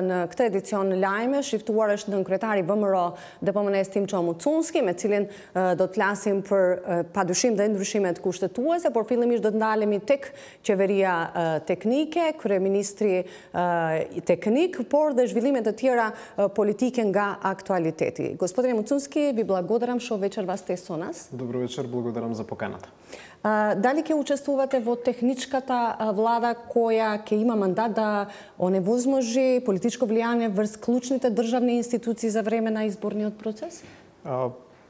Në këtë edicion lajme shiftuar është nën kryetari VMRO DPMNE-s Timço Mucunski, me cilin do të flasim për padyshim dhe ndryshimet kushtetuese, por fillimisht do të ndalemi tek qeveria teknike, kryeministri teknik, por dhe zhvillimet të tjera politike nga aktualiteti. Gospodine Mucunski, ви благодарам што вечер вас сте со нас. Добро вечер, благодарам за поканата. Дали ќе учествувате во техничката влада која ќе има мандат да оневозможи политичко влијание врз клучните државни институции за време на изборниот процес?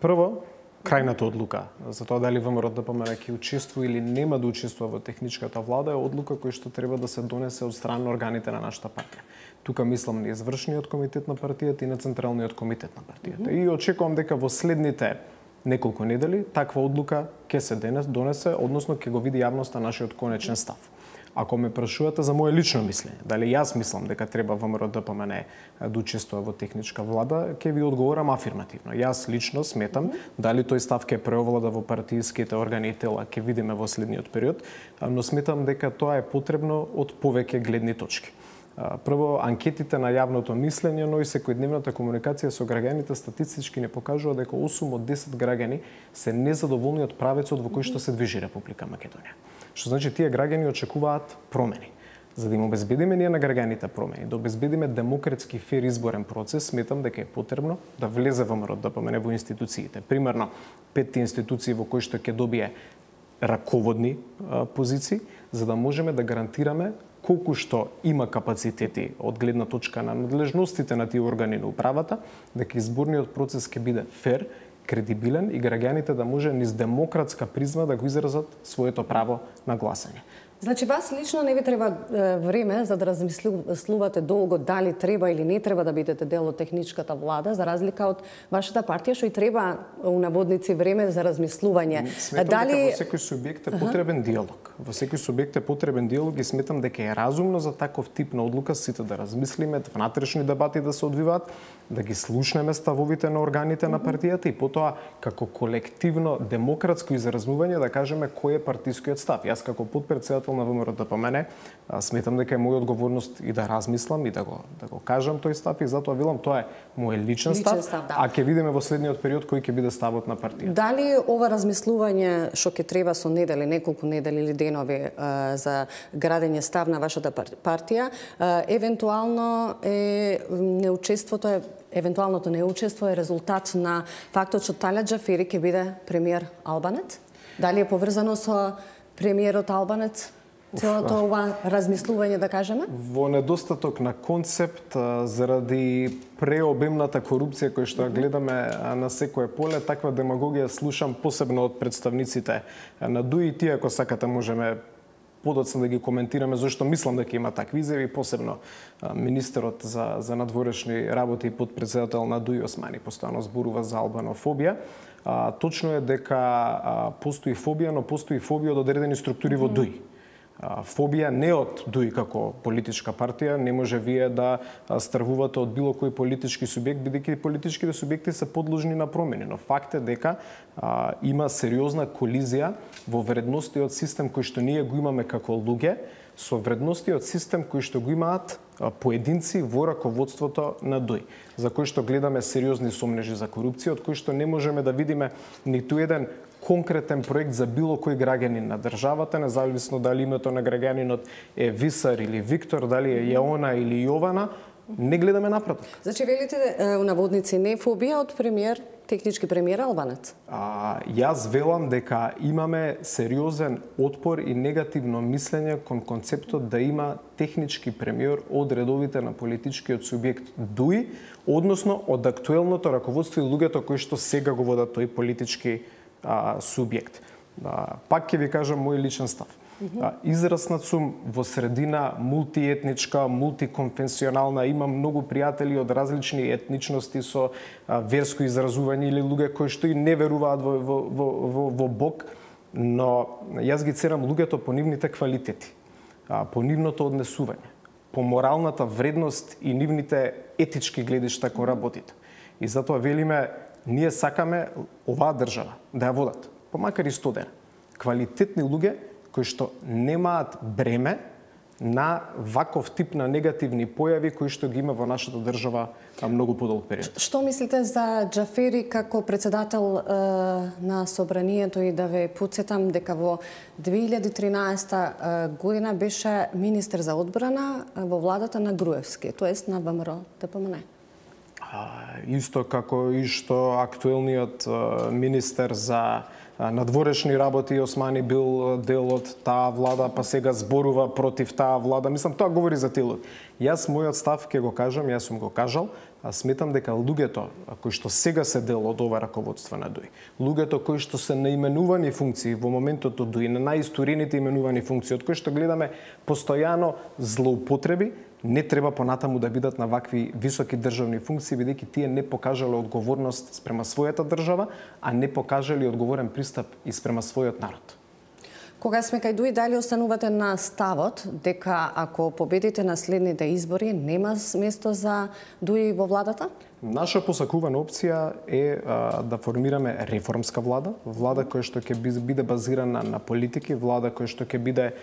Прво, крајната одлука за тоа дали ВМРО ДПМНЕ ќе учествува или нема да учествува во техничката влада е одлука која што треба да се донесе од страна на органите на нашата партија. Тука мислам на извршниот комитет на партијата и на централниот комитет на партијата. И очекувам дека во следните неколку недели таква одлука ќе се донесе, односно ќе го види јавноста нашиот конечен став. Ако ме прашувате за мое лично мислење, дали јас мислам дека треба ВМРО ДПМНЕ да учествува во техничка влада, ќе ви одговорам афирмативно. Јас лично сметам, дали тој став ќе преовлада во партијските органи и тела, ќе видиме во следниот период, но сметам дека тоа е потребно од повеќе гледни точки. Прво, анкетите на јавното мислење, но и секојдневната комуникација со граѓаните статистички не покажува дека 8 од 10 граѓани се незадоволни од правецот во кој што се движи Република Македонија. Што значи тие граѓани очекуваат промени. За да им обезбедиме ние на граѓаните промени, да обезбедиме демократски фер изборен процес, сметам дека е потребно да влезе ВМРО ДПМНЕ во институциите. Примерно, 5 институции во кои што ќе добие раководни позиции, за да можеме да гарантираме колку што има капацитети од гледна точка на надлежностите на тие органи на управата, дека изборниот процес ќе биде фер, кредибилен и граѓаните да може низ демократска призма да го изразат своето право на гласање. Значи, вас лично не ви треба време за да размислувате долго дали треба или не треба да бидете дел од техничката влада, за разлика од вашата партија, што и треба у наводници време за размислување. Сметам дека во секој субјект е потребен диалог. Во секој субјект е потребен диалог и сметам дека е разумно за таков тип на одлука сите да размислиме, внатрешни дебати да се одвиваат, да ги слушнеме ставовите на органите на партијата и потоа како колективно демократско изразување да кажеме кој е партискиот став. Јас како подпредседател на ВМРО ДПМНЕ сметам дека е моја одговорност и да размислам и да го кажам тој став и затоа велам тоа е мој личен став, да. А ќе видиме во следниот период кој ќе биде ставот на партијата. Дали ова размислување што ќе треба со недели, неколку недели или денови за градење став на вашата партија, евентуалното неучество е резултат на фактот што Талјат Џафери ќе биде премиер албанец? Дали е поврзано со премиерот албанец? Целото ова размислување, да кажеме? Во недостаток на концепт, заради преобемната корупција која што гледаме на секое поле, таква демагогија слушам посебно од представниците на ДУИ. Тие, ако сакате, можеме подоцна да ги коментираме, зашто мислам дека има такви изјави, посебно министерот за надворешни работи и подпредседател на ДУИ Османи постојано зборува за албанофобија. Точно е дека постои фобија, но постои фобија од одредени структури во ДУИ. Фобија не од ДУИ како политичка партија, не може вие да стравувате од било кој политички субјект, бидејќи политичките субјекти се подложни на промени, но факт е дека има сериозна колизија во вредностиот систем кој што ние го имаме како луѓе со вредностиот систем кој што го имаат поединци во раководството на ДУИ, за кој што гледаме сериозни сомнежи за корупција, од кој што не можеме да видиме ниту еден конкретен проект за било кој граѓанин на државата, независно дали името на граѓанинот е Висар или Виктор, дали е Јаона или Јована, не гледаме напредок. Значи, велите у наводници не фобија од премиер, технички премиер албанец? Јас велам дека имаме сериозен отпор и негативно мислење кон концептот да има технички премиер од редовите на политичкиот субјект ДУИ, односно од актуелното раководство и луѓето кои што сега го водат тој политички субјект. Пак ќе ви кажам мој личен став. Израснат сум во средина мултиетничка, мултиконфесионална, имам многу пријатели од различни етничности со верско изразување или луѓе кои што и не веруваат во Бог, но јас ги ценам луѓето по нивните квалитети, по нивното однесување, по моралната вредност и нивните етички гледишта кон работите. И затоа велиме, ние сакаме оваа држава да ја водат, помакар и 100 дена. Квалитетни луѓе кои што немаат бреме на ваков тип на негативни појави кои што ги има во нашата држава многу подолг период. Што мислите за Џафери како председател на Собранието и да ве потсетам дека во 2013 година беше министер за одбрана во владата на Груевски, тоест на ВМРО ДПМН? Исто како и што актуелниот министер за надворешни работи Османи бил дел од таа влада, па сега зборува против таа влада. Мислам, тоа говори за телот. Јас мојот став ќе го кажам, јас сум го кажал, сметам дека луѓето кои што сега се дел од ова раководство на ДУИ, луѓето кои што се наименувани функции во моментот од ДУИ, на најисторините именувани функции, од кои што гледаме постојано злоупотреби, не треба понатаму да бидат на вакви високи државни функции, бидејќи тие не покажале одговорност спрема својата држава, а не покажале одговорен пристап и спрема својот народ. Кога сме кај ДУИ, дали останувате на ставот дека ако победите на следните избори, нема место за ДУИ во владата? Наша посакувана опција е да формираме реформска влада, влада која што ќе биде базирана на политики, влада која што ќе биде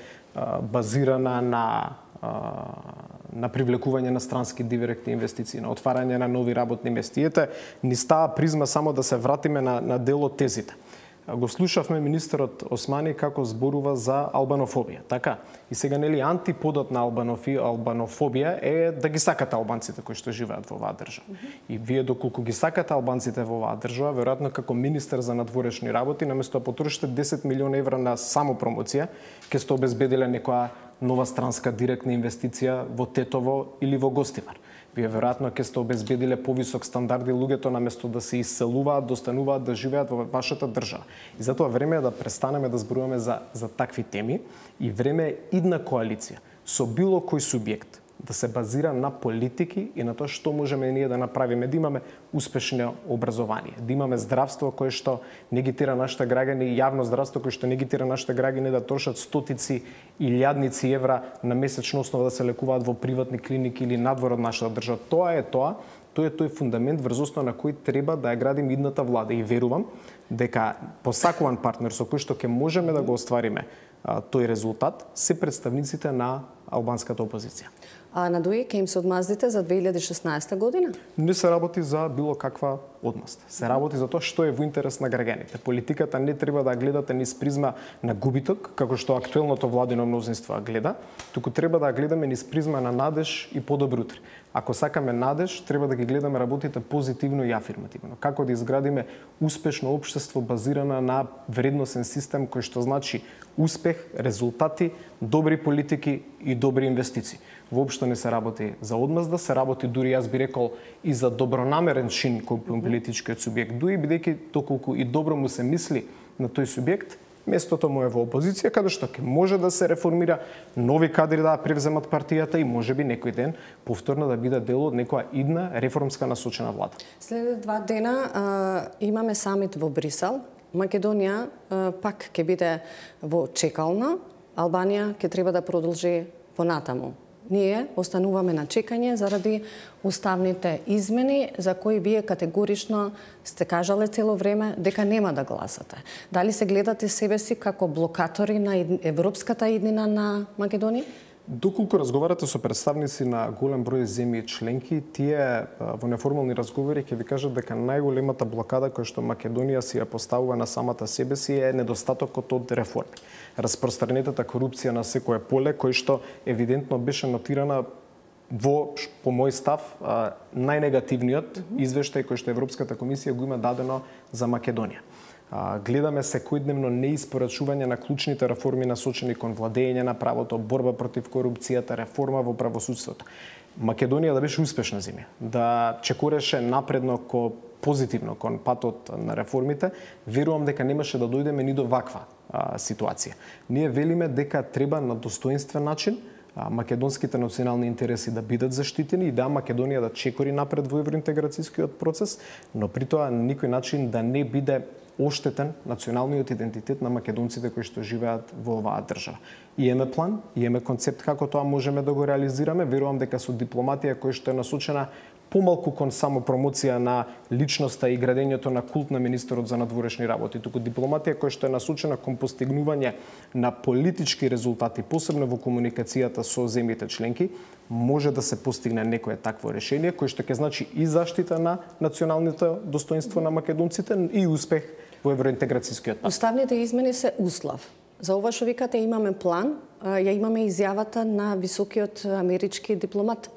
базирана на привлекување на странски директни инвестиции, на отварање на нови работни места. Ете, ни става призма само да се вратиме на дел од тезите. Го слушавме министерот Османи како зборува за албанофобија, така? И сега нели антиподот на албанофобија е да ги сакате албанците кои што живеат во оваа држава. И вие доколку ги сакате албанците во оваа држава, веројатно како министер за надворешни работи, наместо да потрошите 10 милиони евра на само промоција, ќе сте обезбедиле некоја нова странска директна инвестиција во Тетово или во Гостивар. Вие веројатно ќе сте обезбедиле повисок стандарди, луѓето наместо да се иселуваат, достануваат да живеат во вашата држава. И затоа време е да престанеме да зборуваме за такви теми и време е идна коалиција со било кој субјект да се базира на политики и на тоа што можеме ние да направиме, да имаме успешно образование, да имаме здравство кое што не ги тера нашите граѓани, јавно здравство кое што не ги тера нашите граѓани да трошат стотици илјадници евра на месечна основа да се лекуваат во приватни клиники или надвор од нашата држава. Тоа е тој фундамент врз основа на кој треба да ја градим идната влада и верувам дека посакуван партнер со кој што ќе можеме да го оствариме тој резултат се представниците на албанската опозиција. А на ДУИ ќе им се одмаздите за 2016 година? Не се работи за било каква одмазда. Се работи за тоа што е во интерес на граѓаните. Политиката не треба да гледате низ призма на губиток, како што актуелното владино мнозинство гледа, туку треба да гледаме низ призма на надеж и подобро утре. Ако сакаме надеж, треба да ги гледаме работите позитивно и афирмативно. Како да изградиме успешно општество базирано на вредносен систем кој што значи успех, резултати, добри политики и добри инвестиции. Воопшто не се работи за одмазда, се работи дури јас би рекол и за добронамерен чин кој политичкиот субјект ДУИ, бидејќи доколку и добро му се мисли на тој субјект, местото му е во опозиција, каде што ќе може да се реформира, нови кадри да превземат партијата и можеби некој ден повторно да биде дел од некоја идна реформска насочена влада. След 2 дена имаме самит во Брисел. Македонија пак ќе биде во чекална, Албанија ќе треба да продолжи понатаму. Ние остануваме на чекање заради уставните измени за кои вие категорично сте кажале цело време дека нема да гласате. Дали се гледате себе си како блокатори на европската иднина на Македонија? Доколку разговарате со представници на голем број земји членки, тие во неформални разговори ќе ви кажат дека најголемата блокада која што Македонија си ја поставува на самата себе си е недостатокот од реформи. Распространетата корупција на секое поле, кој што евидентно беше нотирана во, по мој став, најнегативниот извештај кој што Европската комисија го има дадено за Македонија. Гледаме секојдневно неиспорачување на клучните реформи насочени кон владење на правото, борба против корупцијата, реформа во правосудството. Македонија да беше успешна земја, да чекореше напредно позитивно кон патот на реформите, верувам дека немаше да дојдеме ни до ваква ситуација. Ние велиме дека треба на достоинствен начин македонските национални интереси да бидат заштитени и да Македонија да чекори напред во евроинтеграцијскиот процес, но при тоа на никој начин да не биде оштетен националниот идентитет на македонците кои што живеат во оваа држава. Имаме план, имаме концепт како тоа можеме да го реализираме. Верувам дека со дипломатија која што е насочена помалку кон само промоција на личноста и градењето на култ на министерот за надворешни работи, туку дипломатија која што е насочена кон постигнување на политички резултати, посебно во комуникацијата со земјите членки, може да се постигне некое такво решение кој што ќе значи и заштита на националното достоинство на македонците и успех во евроинтеграцијскиот пат. Уставните измени се услов. За ова што викате имаме план, ја имаме изјавата на високиот амерички дипломат.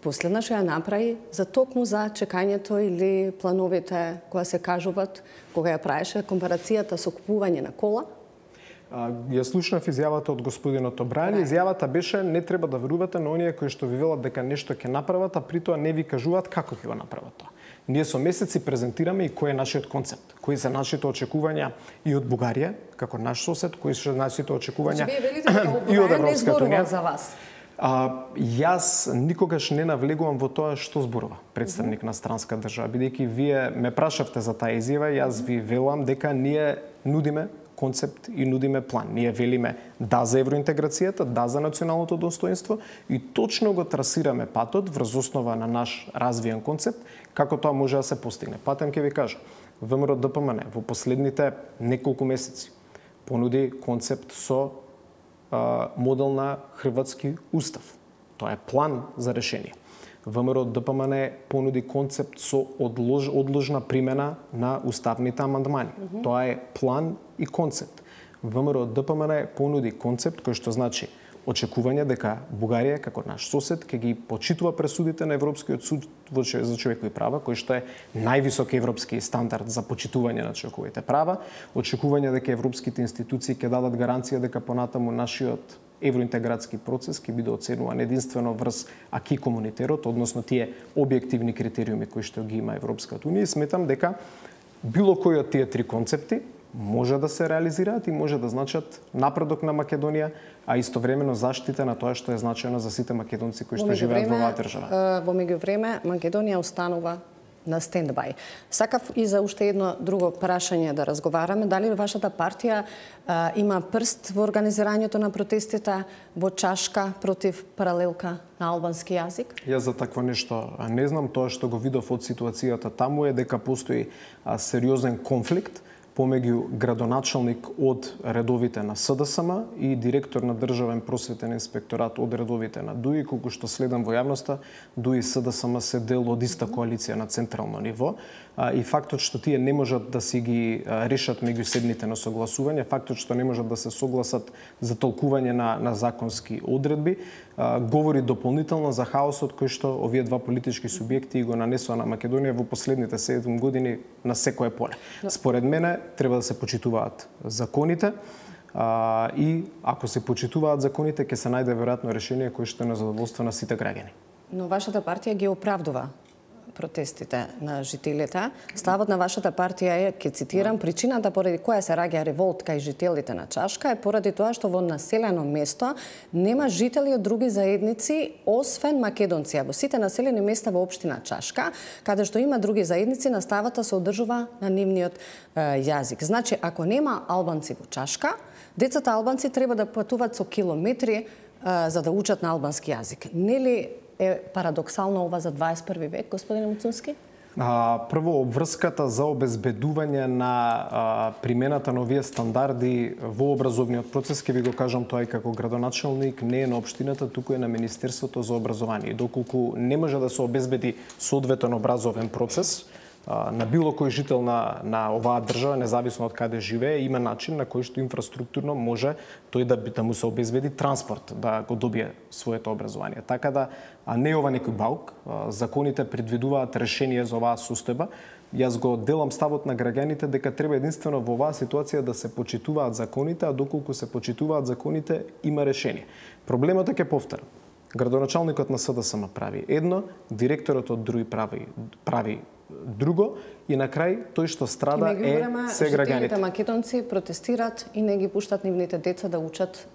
Последна што ја направи за токму за чекањето или плановите која се кажуваат кога ја правеше компарацијата со купување на кола. Ја слушнав изјавата од господинот Обрајан. Изјавата беше не треба да верувате на оние кои што ви велат дека нешто ќе направат, а при тоа не ви кажуваат како ќе го направат тоа. Ние со месеци презентираме и кој е нашиот концепт, кои се нашите очекувања и од Бугарија, како наш сосед, кои се нашите очекувања и од Европската унија. За вас. Јас никогаш не навлегувам во тоа што зборува представник на странска држава, бидејќи вие ме прашавте за таа изјава, јас ви велам дека ние нудиме концепт и нудиме план. Ние велиме да за евроинтеграцијата, да за националното достоинство и точно го трасираме патот врз основа на наш развиен концепт, како тоа може да се постигне. Патем ќе ви кажам, ВМРО ДПМН во последните неколку месеци понуди концепт со модел на хрватски устав. Тоа е план за решение. ВМРО ДПМН понуди концепт со одложна примена на уставните амандмани. Тоа е план и концепт. ВМРО ДПМН понуди концепт кој што значи очекување дека Бугарија како наш сосед ќе ги почитува пресудите на Европскиот суд за човекови права, кој што е највисок европски стандард за почитување на човековите права, очекување дека европските институции ќе дадат гаранција дека понатаму нашиот евроинтегратски процес ќе биде оценуван единствено врз аки комунитерот, односно тие објективни критериуми кои што ги има Европската унија. Сметам дека било кој од тие три концепти може да се реализираат и може да значат напредок на Македонија, а истовремено заштита на тоа што е значено за сите македонци кои што живеат во оваа држава. Во меѓувреме Македонија останува на стендбај. Сакав и за уште едно друго прашање да разговараме. Дали вашата партија има прст во организирањето на протестите во Чашка против паралелка на албански јазик? Јас за такво нешто не знам. Тоа што го видов од ситуацијата таму е дека постои сериозен конфликт помеѓу градоначалник од редовите на СДСМ и директор на Државен просветен инспекторат од редовите на ДУИ, колку што следам во јавноста, ДУИ и СДСМ се дел од иста коалиција на централно ниво. И фактот што тие не можат да си ги решат меѓуседните на согласување, фактот што не можат да се согласат за толкување на законски одредби, говори дополнително за хаосот кој што овие два политички субјекти го нанесоа на Македонија во последните 7 години на секое поле. Според мене треба да се почитуваат законите и ако се почитуваат законите ќе се најде веројатно решение кое што е на задоволство на сите граѓани. Но вашата партија ги оправдува протестите на жителите. Ставот на вашата партија е, ќе цитирам, причината поради која се раѓа револт кај жителите на Чашка е поради тоа што во населено место нема жители од други заедници освен македонци. Во сите населени места во општина Чашка, каде што има други заедници, наставата се одржува на нивниот јазик. Значи, ако нема албанци во Чашка, децата албанци треба да патуваат со километри за да учат на албански јазик. Нели е парадоксално ова за 21 век, господине Муцунски? Прво, обврската за обезбедување на примената на овие стандарди во образовниот процес, ќе ви го кажам тоа и како градоначалник, не е на општината, туку е на Министерството за образование. Доколку не може да се обезбеди соодветен образовен процес, на било кој жител на оваа држава, независно од каде живее, има начин на кој што инфраструктурно може тој да му се обезбеди транспорт, да го добие своето образование. Така да, не ова некој баук, законите предвидуваат решение за оваа состојба. Јас го делам ставот на граѓаните дека треба единствено во оваа ситуација да се почитуваат законите, а доколку се почитуваат законите, има решение. Проблемот е, ќе повторам, градоначалникот на СДСМ прави едно, директорот од ДРУИ прави друго и на крај тој што страда е се граѓаните. Жителите македонци протестират и не ги пуштат нивните деца да учат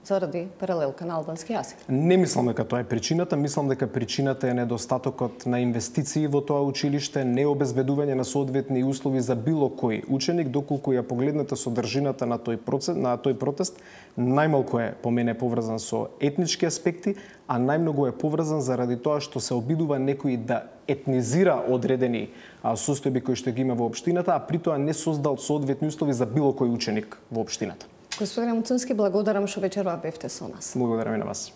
заради паралелка на албански јазик? Не мислам дека тоа е причината, мислам дека причината е недостатокот на инвестиции во тоа училиште, необезбедување на соодветни услови за било кој ученик, доколку ја погледнете содржината на тој протест, најмалку е по мене поврзан со етнички аспекти, а најмногу е поврзан заради тоа што се обидува некој да етнизира одредени состојби кои што ги има во општината, а при тоа не создал соодветни услови за било кој ученик во општината. Господине Муцунски, благодарам што вечерва бевте со нас. Благодарам и на вас.